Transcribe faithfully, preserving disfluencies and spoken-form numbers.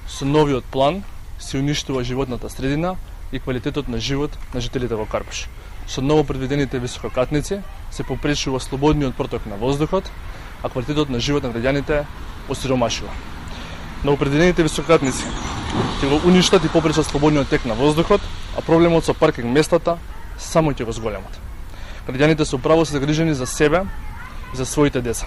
Со новиот план се уништува животната средина и квалитетот на живот на жителите во Карпуш. Со ново предвидените висококатници се попречува слободниот проток на воздухот, а квалитетот на живот на граѓаните осиромашува. Новопредвидените висококатници ќе го уништат и попречат слободниот тек на воздухот, а проблемот со паркинг местата само ќе го зголемат. Граѓаните со право се загрижени за себе и за своите деца.